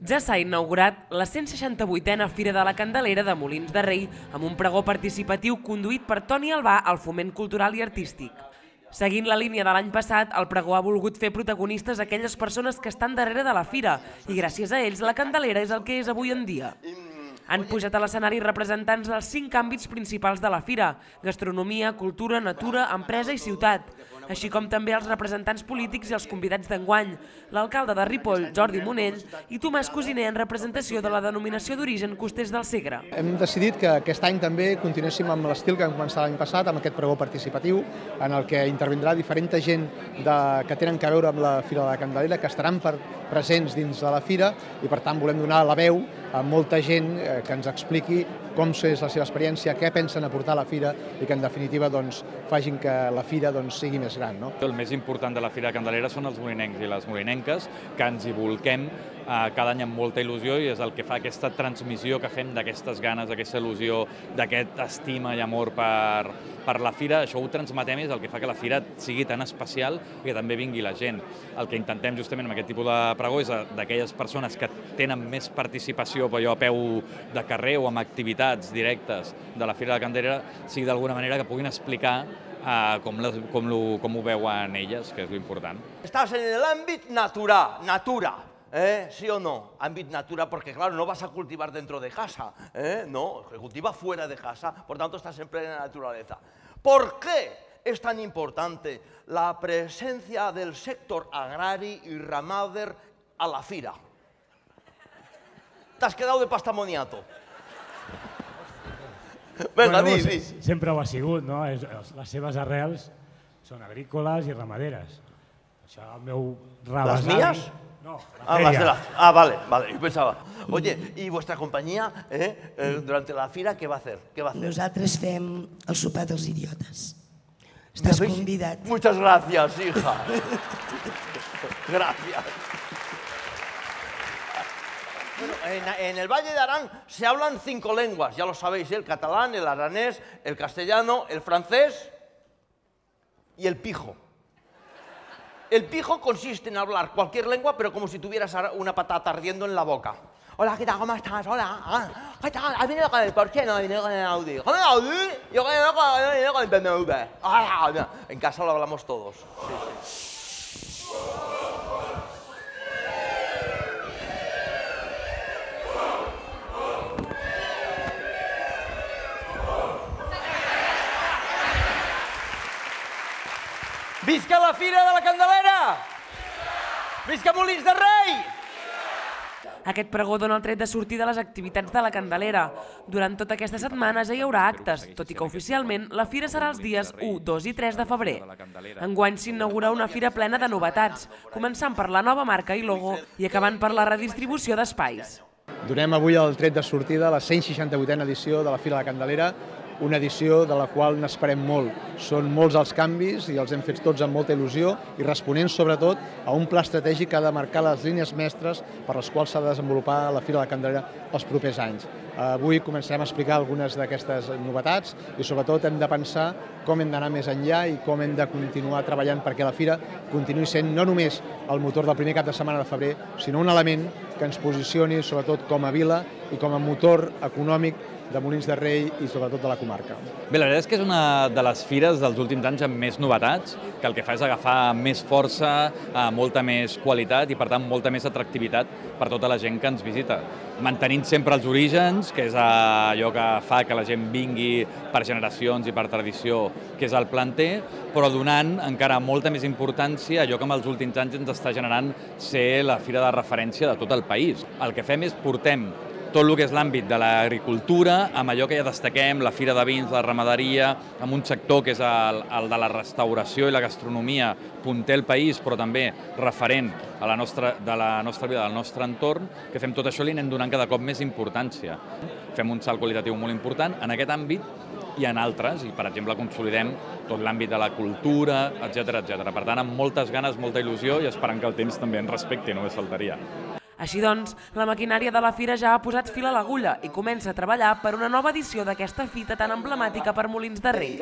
Ja s'ha inaugurat la 168a Fira de la Candelera de Molins de Rei amb un pregó participatiu conduït per Toni Albà al Foment Cultural i Artístic. Seguint la línia de l'any passat, el pregó ha volgut fer protagonistes aquelles persones que estan darrere de la fira i gràcies a ells la Candelera és el que és avui en dia. Han pujat a l'escenari representants dels 5 àmbits principals de la fira: gastronomia, cultura, natura, empresa i ciutat, així com també els representants polítics i els convidats d'enguany, l'alcalde de Ripoll, Jordi Monell, i Tomàs Cosiner en representació de la denominació d'origen Costers del Segre. Hem decidit que aquest any també continuéssim amb l'estil que vam començar l'any passat, amb aquest pregó participatiu, en el que intervindrà diferent gent que tenen a veure amb la Fira de la Candelera, que estaran presents dins de la fira i per tant volem donar la veu a molta gent que ens expliqui com és la seva experiència, què pensen aportar a la fira i que en definitiva facin que la fira sigui més gran. El més important de la Fira de Candelera són els molinencs i les molinenques, que ens hi volquem cada any amb molta il·lusió i és el que fa aquesta transmissió que fem d'aquestes ganes, d'aquesta il·lusió, d'aquest estima i amor per la fira. Això ho transmetem i és el que fa que la fira sigui tan especial i que també vingui la gent. El que intentem justament amb aquest tipus de pregó és d'aquelles persones que tenen més participació a peu de carrer o amb activitats directes de la Fira de la Candelera, sigui d'alguna manera que puguin explicar com ho veuen elles, que és l'important. Estás en el ámbito natura, ¿sí o no? Ámbito natura, porque claro, no vas a cultivar dentro de casa, no, cultiva fuera de casa, por tanto estás en plena naturaleza. ¿Por qué es tan importante la presencia del sector agrario y ramader a la fira? T'has quedado de pastamoniato. Vinga, di. Sempre ho ha sigut, no? Les seves arrels són agrícoles i ramaderes. Això el meu ¿Las mías? No, la feria. Vale, yo pensaba. Oye, ¿y vuestra compañía durante la fira qué va a hacer? Nosaltres fem el sopar dels idiotes. Estàs convidat. Muchas gracias, hija. Gracias. Bueno, en el Valle de Arán se hablan 5 lenguas, ya lo sabéis, el catalán, el aranés, el castellano, el francés y el pijo. El pijo consiste en hablar cualquier lengua, pero como si tuvieras una patata ardiendo en la boca. Hola, ¿qué tal? ¿Cómo estás? Hola. ¿Qué tal? ¿Has venido con el Porsche? No, he venido con el Audi. ¿Con el Audi? Yo he venido con el BMW. En casa lo hablamos todos. Sí. Visca la Fira de la Candelera! Visca Molins de Rei! Aquest pregó dona el tret de sortir de les activitats de la Candelera. Durant tota aquesta setmana ja hi haurà actes, tot i que oficialment la fira serà els dies 1, 2 i 3 de febrer. Enguany s'inaugura una fira plena de novetats, començant per la nova marca i logo i acabant per la redistribució d'espais. Donem avui el tret de sortida a la 168a edició de la Fira de la Candelera, una edició de la qual n'esperem molt. Són molts els canvis i els hem fet tots amb molta il·lusió i responent sobretot a un pla estratègic que ha de marcar les línies mestres per les quals s'ha de desenvolupar la Fira de la Candelera els propers anys. Avui començarem a explicar algunes d'aquestes novetats i sobretot hem de pensar com hem d'anar més enllà i com hem de continuar treballant perquè la fira continuï sent no només el motor del primer cap de setmana de febrer, sinó un element que ens posicioni sobretot com a vila i com a motor econòmic de Molins de Rei i sobretot de la comarca. Bé, la veritat és que és una de les fires dels últims anys amb més novetats, que el que fa és agafar més força, molta més qualitat i per tant molta més atractivitat per tota la gent que ens visita. Mantenint sempre els orígens, que és allò que fa que la gent vingui per generacions i per tradició, que és el planter, però donant encara molta més importància a allò que en els últims anys ens està generant ser la fira de referència de tot el país. El que fem és portem tot el que és l'àmbit de l'agricultura, amb allò que ja destaquem, la fira de vins, la ramaderia, amb un sector que és el de la restauració i la gastronomia, punter al país, però també referent de la nostra vida, del nostre entorn, que fem tot això i li anem donant cada cop més importància. Fem un salt qualitatiu molt important en aquest àmbit i en altres, i per exemple consolidem tot l'àmbit de la cultura, etc. Per tant, amb moltes ganes, molta il·lusió i esperant que el temps també ens respecti, només faltaria. Així doncs, la maquinària de la fira ja ha posat fil a l'agulla i comença a treballar per una nova edició d'aquesta fita tan emblemàtica per Molins de Rei.